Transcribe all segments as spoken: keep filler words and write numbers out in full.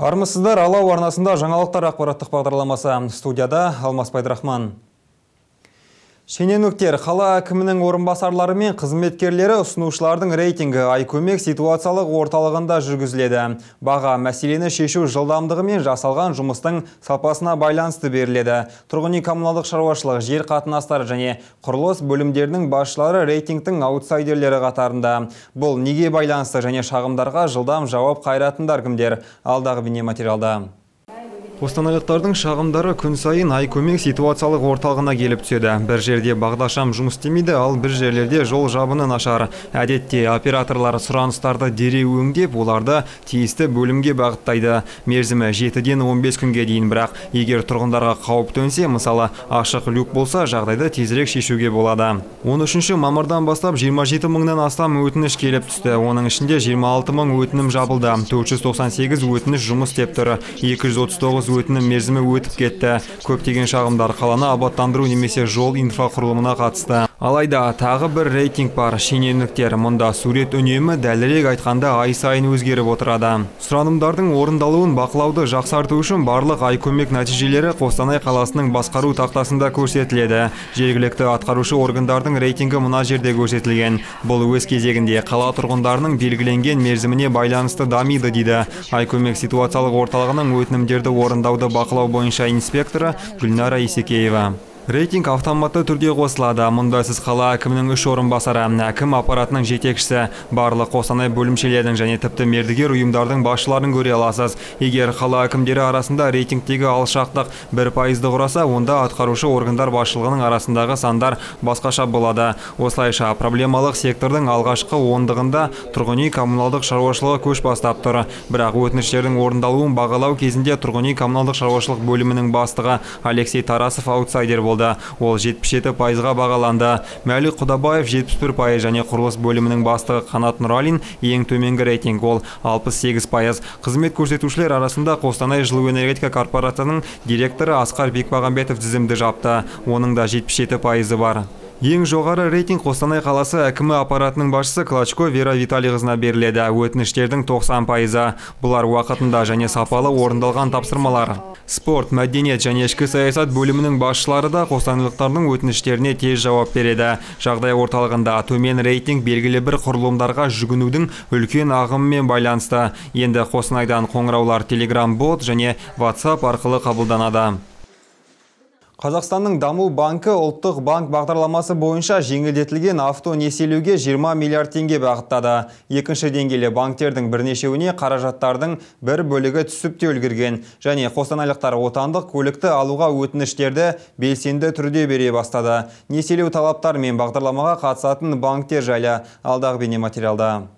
Армысыздар, Алау арнасында жаңалықтар ақпараттық бағдарламасы. Студияда Алмас Пайдырахман. Шенеуніктер қала әкімінің орынбасарлары мен қызметкерлері ұсынушылардың рейтингі Айкөмек ситуациялық орталығында жүргізіледі. Баға мәселені шешу жылдамдығы мен жасалған жұмыстың сапасына байланысты беріледі. Тұрғын үй коммуналдық шаруашылық, жер қатынастары және құрылыс бөлімдерінің басшылары рейтингтің аутсайдерлері қатарында. Бұл неге байланысты және шағымдарға жылдам жауап қайратындар кімдер? Алдағы бейнематериалда. Қостанайлықтардың шағымдары күн сайын Айкөмек ситуациялық орталығына келіп түседі. Бір жерде бағдашам жұмыс істемейді, ал бір жерлерде жол жабыны нашар. Әдетте операторлар сұраныстарды дереу өңдеп, оларды тиісті бөлімге бағыттайды. Мерзімі жетіден он бес күнге дейін, бірақ егер тұрғындарға қауіп төнсе, мысалы ашық люк болса, жағдайды тезірек шешуге болады. он үшінші мамырдан бастап жиырма жеті мыңнан астам өтініш келіп түсті. Оның ішінде жиырма алты мың өтінім жабылды. төрт жүз тоқсан сегіз өтініш жұмыс істеп тұр. екі жүз отыз тоғыз өтінім мерзімі өтіп кетті. Көптеген шағымдар қаланы абаттандыру немесе жол инфрақұрылымына қатысты. Алайда тағы бір рейтинг бар. Шенеуніктер. Мұнда сурет үнемі, дәлірек айтқанда ай сайын өзгеріп отырады. Сұранымдардың орындалуын бақылауды жақсарту үшін барлық Айкөмек нәтижелері Қостанай қаласының басқару тақтасында көрсетіледі. Жергілікті атқарушы органдардың рейтингі мына жерде көрсетілген. Бұл өз кезегінде қала тұрғындарының белгіленген мерзіміне байланысты дамиды дейді Айкөмек ситуациялық орталығының өтінімдерді орындауды бақылау бойынша инспекторы Гүлнара Исекеева. Рейтинг автоматты түрде қосылады. Мұнда сіз қала әкімінің үш орынбасары, әкім аппаратының жетекшісі, барлық Қостанай бөлімшелердің және тіпті мердігер ұйымдардың басшыларын көре аласыз. Егер қала әкімдері арасында рейтингтегі алшақтық бір пайызды құраса, онда атқарушы органдар басшылығының арасындағы сандар басқаша болады. Осылайша проблемалық сектордың алғашқы ондығында тұрғын үй коммуналдық шаруашылығы көш бастап тұр. Бірақ өтініштердің орындалуын бағалау кезінде тұрғын үй коммуналдық шаруашылық бөлімінің бастығы Алексей Тарасов аутсайдер болды. Ол жетпіс жеті пайызға бағаланды. Мәлік Құдабаев жетпіс бір пайыз және құрылыс бөлімінің бастығы Қанат Нұралин ең төменгі рейтинг, ол алпыс сегіз пайыз. Қызмет көрсетушілер арасында Қостанай жылу энергетика корпорациясының директоры Асқар Бекмағамбетов тізімді жапты. Оның да жетпіс жеті пайызы бар. Ең жоғары рейтинг Қостанай қаласы әкімі аппаратының басшысы Клочко Вера Виталийқызына беріледі. Өтініштердің тоқсан пайызы. Бұлар уақытында және сапалы орындалған тапсырмалар. Спорт, мәдениет және ішкі саясат бөлімінің басшылары да қостанайлықтардың өтініштеріне тез жауап береді. Жағдай орталығында төмен рейтинг белгілі бір құрылымдарға жүгінудің үлкен ағымымен байланысты. Енді Қостанайдан қоңыраулар Telegram-бот және WhatsApp арқылы қабылданады. Қазақстанның даму банкі ұлттық банк бағдарламасы бойынша жеңілдетілген авто несиелеуге жиырма миллиард теңге бағыттады. Екінші деңгейлі банктердің бірнешеуіне қаражаттардың бір бөлігі түсіп те үлгерген. Және қостанайлықтар отандық көлікті алуға өтініштерді белсенді түрде бере бастады. Несиелеу талаптары мен бағдарламаға қатысатын банктер жайлы алдағы бейнематериалда.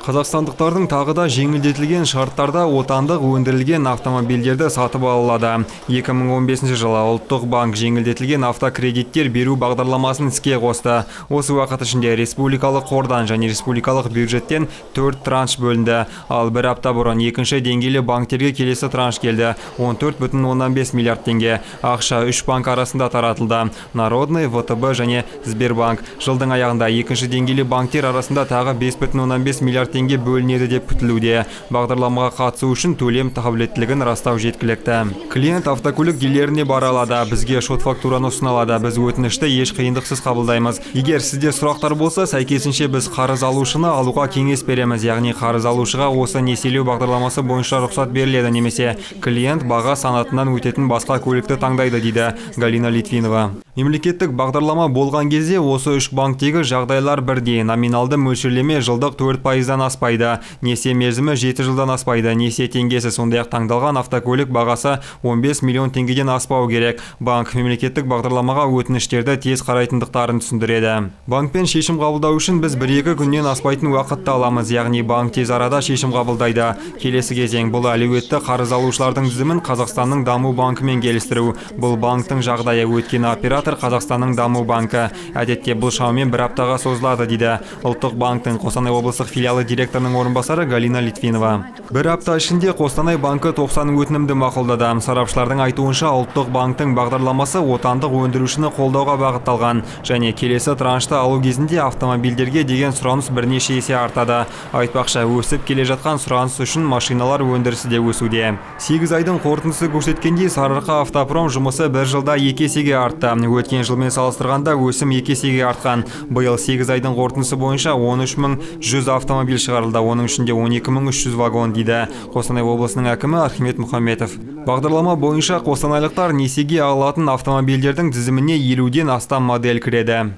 Қазақстандықтардың тағы да жеңілдетілген шарттарда отандық өндірілген автомобильдерді сатып алады. екі мың он бесінші жылы ұлттық банк жеңілдетілген автокредиттер беру бағдарламасын іске қосты. Осы уақыт ішінде республикалық қордан және республикалық бюджеттен төрт транш бөлінді. Ал бір апта бұрын екінші деңгейлі банктерге келесі транш келді. он төрт бүтін оннан бес миллиард теңге. Ақша үш банк арасында таратылды. Народный, вэ тэ бэ және Сбербанк. Жылдың аяғында екінші деңгейлі банктер арасында тағы бес бүтін оннан бес миллиард теңге бөлінеді деп күтілуде. Бағдарламаға қатысу үшін төлем қабілеттілігін растау жеткілікті. Клиент автокөлік дилеріне бара алады, бізге шот фактураны ұсыналады. Біз өтінішті еш қиындықсыз қабылдаймыз. Егер сізде сұрақтар болса, сәйкесінше біз қарыз алушыны алуға кеңес береміз. Яғни қарыз алушыға осы несиелеу бағдарламасы бойынша рұқсат беріледі, немесе клиент баға санатынан өтетін басқа көлікті таңдайды, дейді Галина Литвинова. Мемлекеттік бағдарлама болған кезде осы үш банктегі жағдайлар бірдей. Номиналды мөлшерлеме жылдық төрт пайыздан аспайды. Несие мерзімі жеті жылдан аспайды. Несие теңгесі, сондай-ақ таңдалған автокөлік бағасы он бес миллион теңгеден аспау керек. Банк мемлекеттік бағдарламаға өтініштерді тез қарайтындықтарын түсіндіреді. Банкпен шешім қабылдау үшін біз бір-екі күннен аспайтын уақытты аламыз. Яғни банк тез арада шешім қабылдайды. Келесі кезең бұл әлеуетті қарыз алушылардың тізімін Қазақстанның даму банкымен келістіру. Бұл банктың жағдайы, өткен оператор жатыр Қазақстанның даму банкі. Әдетте бұл шамамен бір аптаға созылады дейді Ұлттық банктың Қостанай облыстық филиалы директорының орынбасары Галина Литвинова. Бір апта ішінде Қостанай банкі тоқсан өтінімді мақұлдады. Сарапшылардың айтуынша Ұлттық банктың бағдарламасы отандық өндірушіні қолдауға бағытталған және келесі траншты алу кезінде автомобильдерге деген сұраныс бірнеше есе артады. Айтпақша, өсіп келе жатқан сұраныс үшін машиналар өндірісі де өсуде. сегіз айдың қорытындысы көрсеткендей, Сарыарқа автопром жұмысы бір жылда екі есеге артты. Өткен жылмен салыстырғанда өсім екі есеге артқан. Биыл сегіз айдың қорытындысы бойынша он үш мың жүз автомобиль шығарылды, оның ішінде он екі мың үш жүз вагон дейді Қостанай облысының әкімі Архимед Мұхамбетов. Бағдарлама бойынша қостанайлықтар несиеге алатын автомобильдердің тізіміне елуден астам модель кіреді.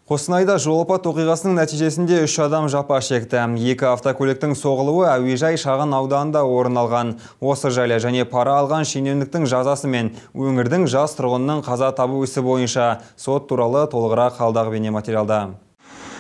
Қостанайда жол апат оқиғасының нәтижесінде үш адам жапа шекті. Екі автокөліктің соғылуы әуежай шағын ауданында орын алған. Осы жайлы және пара алған шенеуніктің жазасы мен өңірдің жас тұрғынның қаза табу ісі бойынша сот туралы толығырақ алдағы бейнематериалда.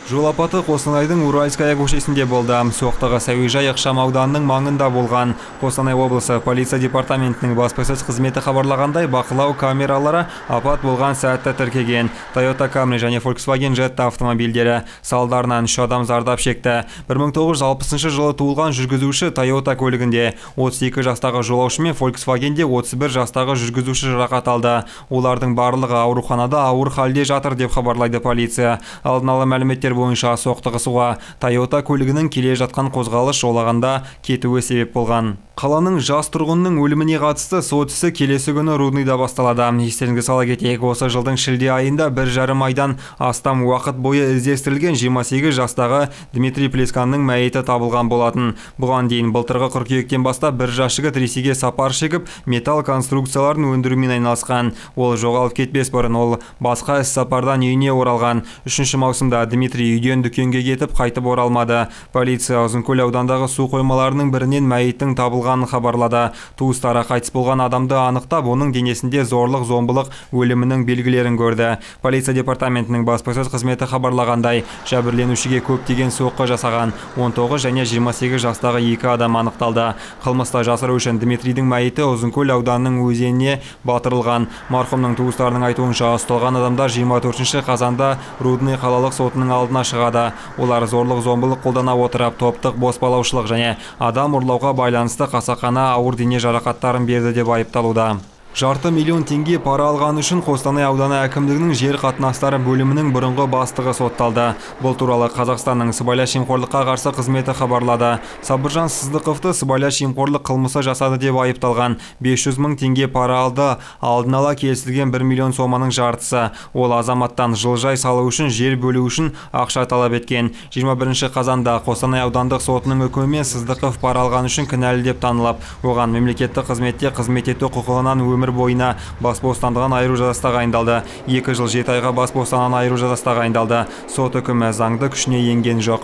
Жол апаты Қостанайдың Уральская көшесінде болды. Соқтығыс әуежай ықшам ауданының маңында болған. Қостанай облысы полиция департаментінің баспасөз қызметі хабарлағандай, бақылау камералары апат болған сәтті тіркеген. Toyota Camry және Volkswagen Jetta автомобильдері салдарынан үш адам зардап шекті. бір мың тоғыз жүз алпысыншы жылы туылған жүргізуші Toyota көлігінде, отыз екі жастағы жолаушы мен Volkswagenде отыз бір жастағы жүргізуші жарақат алды. Олардың барлығы ауруханада ауыр халде жатыр деп хабарлайды полиция. Алдын ала мәліметтер бойынша соқтығысуға Toyota көлігінің келе жатқан қозғалыс жолағанда кетуі себеп болған. Қаланың жас тұрғынның өліміне қатысты сот ісі келесі күні Рудныйда басталады. Естеріңізге сала кетейік, осы жылдың шілде айында бір жарым айдан астам уақыт бойы іздестірілген жиырма сегіз жастағы Дмитрий Плесканның мәйіті табылған болатын. Бұған дейін былтырғы қыркүйектен бастап бір жас жігіт Ресейге сапар шегіп, металл конструкцияларын өндірумен айналысқан. Ол жоғалып кетпес бұрын ол басқа іс сапардан үйіне оралған. үшінші маусымда Дмитрий үйден дүкенге кетіп қайтып оралмады. Полиция Ұзынкөл аудандағы су қоймаларының бірінен мәйіттің табылғанын хабарлады. Туыстары қайтыс болған адамды анықтап, оның денесінде зорлық зомбылық өлімінің белгілерін көрді. Полиция департаментінің баспасөз қызметі хабарлағандай, жәбірленушіге көптеген соққы жасаған он тоғыз және жиырма сегіз жастағы екі адам анықталды. Қылмысты жасыру үшін Дмитрийдің мәйіті Ұзынкөл ауданының өзеніне батырылған. Марқұмның туыстарының айтуынша, ұсталған адамдар жиырма төртінші қазанда Рудный қалалық сотының алдына шығады. Олар зорлық зомбылық қолдана отырып, топтық боспалаушылық және адам ұрлауға байланысты қасақана ауыр дене жарақаттарын берді деп айыпталуда. Жарты миллион теңге пара алған үшін Қостанай ауданы әкімдігінің жер қатынастары бөлімінің бұрынғы бастығы сотталды. Бұл туралы Қазақстанның сыбайлас жемқорлыққа қарсы қызметі хабарлады. Сабыржан Сыздықовты сыбайлас жемқорлық қылмысы жасады деп айыпталған. бес жүз мың теңге пара алды. Алдын ала келісілген бір миллион соманың жартысы. Ол азаматтан жылыжай салу үшін, жер бөлу үшін ақша талап еткен. жиырма бірінші қазанда Қостанай аудандық сотының үкімімен Сыздықов пара алған үшін кінәлі деп танылып, оған мемлекеттік қызметте қызмет ету құқығынан өмір бойына бас бостандығын айыру жазасы тағайындалды. екі жыл жеті айға бас бостандығынан айыру жазасы тағайындалды. Сот үкімі заңды күшіне енген жоқ.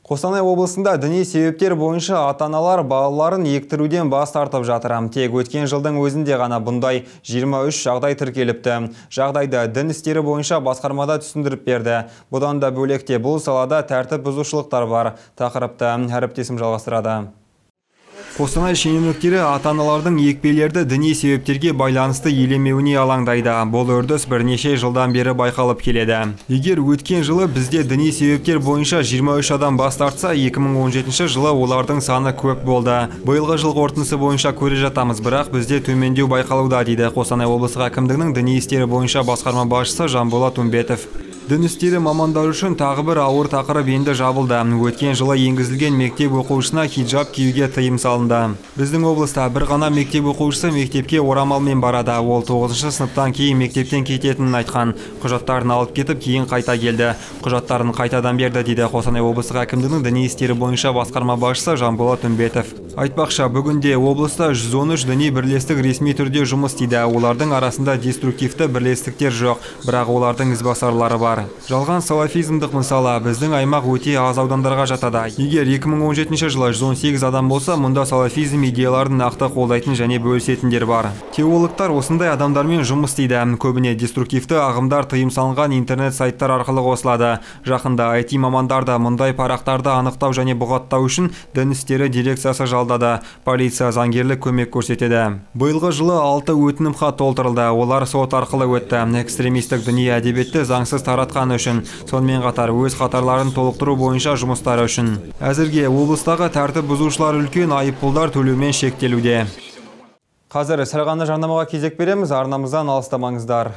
Қостанай облысында діни себептер бойынша ата-аналар балаларын ектіруден бас тартып жатыр. Тек өткен жылдың өзінде ғана бұндай жиырма үш жағдай тіркеліпті. Жағдайды дін істері бойынша басқармада түсіндіріп берді. Бұдан да бөлекте бұл салада тәртіп бұзушылықтар бар. Тақырыпты әріптесім жалғастырады. Қостанай шенеуніктері ата-аналардың екпелерді діни себептерге байланысты елемеуіне алаңдайды. Бұл үрдіс бірнеше жылдан бері байқалып келеді. Егер өткен жылы бізде діни себептер бойынша жиырма үш адам бас тартса, екі мың он жетінші жылы олардың саны көп болды. Биылғы жыл қорытындысы бойынша көре жатамыз, бірақ бізде төмендеу байқалуда, дейді Қостанай облыстық әкімдігінің діни істері бойынша басқарма басшысы Жанболат Умбетов. Дін істері мамандары үшін тағы бір ауыр тақырып енді жабылды. Өткен жылы енгізілген мектеп оқушысына хиджаб киюге тыйым салынды. Біздің облыста бір ғана мектеп оқушысы мектепке орамалмен барады. Ол тоғызыншы сыныптан кейін мектептен кететінін айтқан. Құжаттарын алып кетіп, кейін қайта келді. Құжаттарын қайтадан берді, дейді Қостанай облыстық әкімдігінің діни істері бойынша басқарма басшысы Жанболат Умбетов. Айтпақша, бүгінде облыста жүз он үш діни бірлестік ресми түрде жұмыс істейді. Олардың арасында деструктивті бірлестіктер жоқ, бірақ олардың ізбасарлары бар. Жалған салафизмдық мысалы біздің аймақ өте аз аудандарға жатады. Егер екі мың он жетінші жылы жүз он сегіз адам болса, мұнда салафизм идеяларын нақты қолдайтын және бөлісетіндер бар. Теологтар осындай адамдармен жұмыс істейді. Көбіне деструктивті ағымдар тыйым салынған интернет сайттар арқылы қосылады. Жақында ай ти мамандар да мұндай парақтарды анықтау және бұғаттау үшін дін істері дирекциясы жалдады. жалдады. Полиция заңгерлік көмек көрсетеді. Биылғы жылы алты өтінім хат толтырылды. Олар сот арқылы өтті. Экстремистік діни әдебиетті заңсыз таратқаны үшін, сонымен қатар өз қатарларын толықтыру бойынша жұмыстары үшін. Әзірге облыстағы тәртіп бұзушылар үлкен айыппұлдар төлеумен шектелуде. Қазір сәл ғана жарнамаға кезек береміз. Арнамыздан алыстамаңыздар.